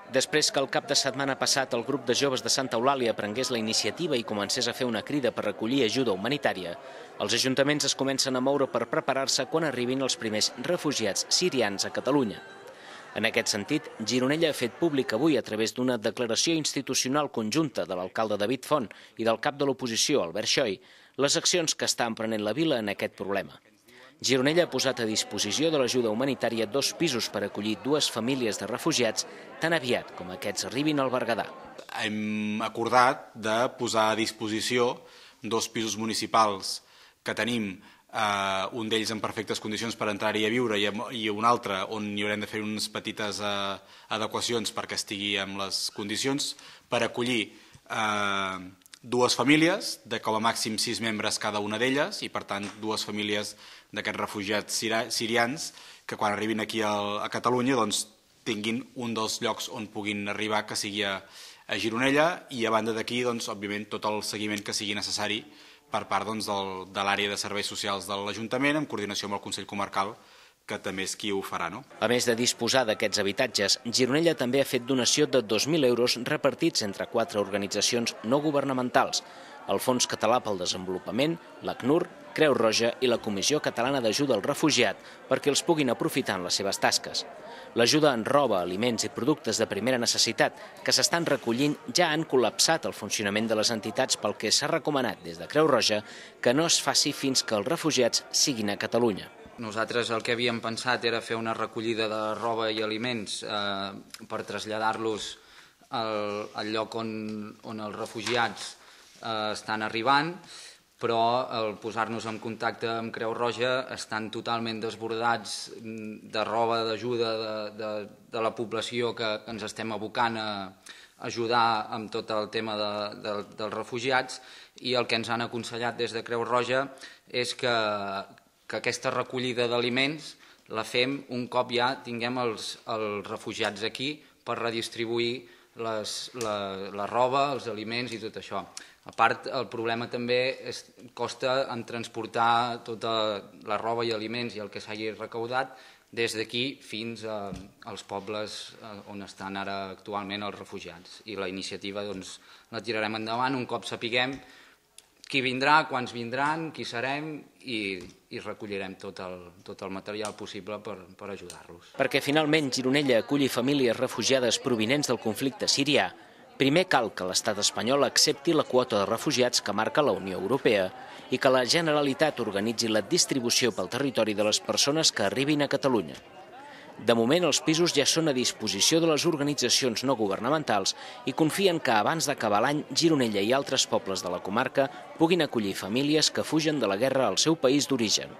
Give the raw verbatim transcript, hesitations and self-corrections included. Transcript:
Després que el cap de setmana passat el grup de joves de Santa Eulàlia prengués la iniciativa i comencés a fer una crida per recollir ajuda humanitària, els ajuntaments es comencen a moure per preparar-se quan arribin els primers refugiats sirians a Catalunya. En aquest sentit, Gironella ha fet públic avui, a través d'una declaració institucional conjunta de l'alcalde David Font i del cap de l'oposició, Albert Xoy, les accions que està emprenent la vila en aquest problema. Gironella ha posat a disposició de l'ajuda humanitària dos pisos per acollir dues famílies de refugiats tan aviat com aquests arribin al Berguedà. Hem acordat de posar a disposició dos pisos municipals que tenim, eh, un d'ells en perfectes condicions per entrar-hi a viure i un altre on hi haurem de fer unes petites eh, adequacions perquè estigui en les condicions, per acollir eh, dues famílies de com a màxim sis membres cada una d'elles i per tant dues famílies d'aquests refugiats sirians que quan arribin aquí a Catalunya doncs, tinguin un dels llocs on puguin arribar, que sigui a, a Gironella, i a banda d'aquí, doncs, òbviament, tot el seguiment que sigui necessari per part doncs, del, de l'àrea de serveis socials de l'Ajuntament, en coordinació amb el Consell Comarcal, que també és qui ho farà. No? A més de disposar d'aquests habitatges, Gironella també ha fet donació de dos mil euros repartits entre quatre organitzacions no governamentals: el Fons Català pel Desenvolupament, l'ACNUR, Creu Roja i la Comissió Catalana d'Ajuda al Refugiat, perquè els puguin aprofitar en les seves tasques. L'ajuda en roba, aliments i productes de primera necessitat que s'estan recollint ja han col·lapsat el funcionament de les entitats, pel que s'ha recomanat des de Creu Roja que no es faci fins que els refugiats siguin a Catalunya. Nosaltres el que havíem pensat era fer una recollida de roba i aliments eh, per traslladar-los al, al lloc on, on els refugiats eh, estan arribant, però al posar-nos en contacte amb Creu Roja estan totalment desbordats de roba d'ajuda de, de, de la població que, que ens estem abocant a ajudar amb tot el tema de, de, dels refugiats, i el que ens han aconsellat des de Creu Roja és que, que aquesta recollida d'aliments la fem un cop ja tinguem els, els refugiats aquí per redistribuir les, la, la roba, els aliments i tot això. A part, el problema també és, costa en transportar tota la roba i aliments i el que s'hagi recaudat des d'aquí fins a, als pobles on estan ara actualment els refugiats. I la iniciativa doncs, la tirarem endavant un cop sapiguem qui vindrà, quants vindran, qui serem, i, i recollirem tot el, tot el material possible per, per ajudar-los. Perquè finalment Gironella aculli famílies refugiades provinents del conflicte sirià, primer cal que l'estat espanyol accepti la quota de refugiats que marca la Unió Europea i que la Generalitat organitzi la distribució pel territori de les persones que arribin a Catalunya. De moment, els pisos ja són a disposició de les organitzacions no governamentals i confien que abans d'acabar l'any, Gironella i altres pobles de la comarca puguin acollir famílies que fugen de la guerra al seu país d'origen.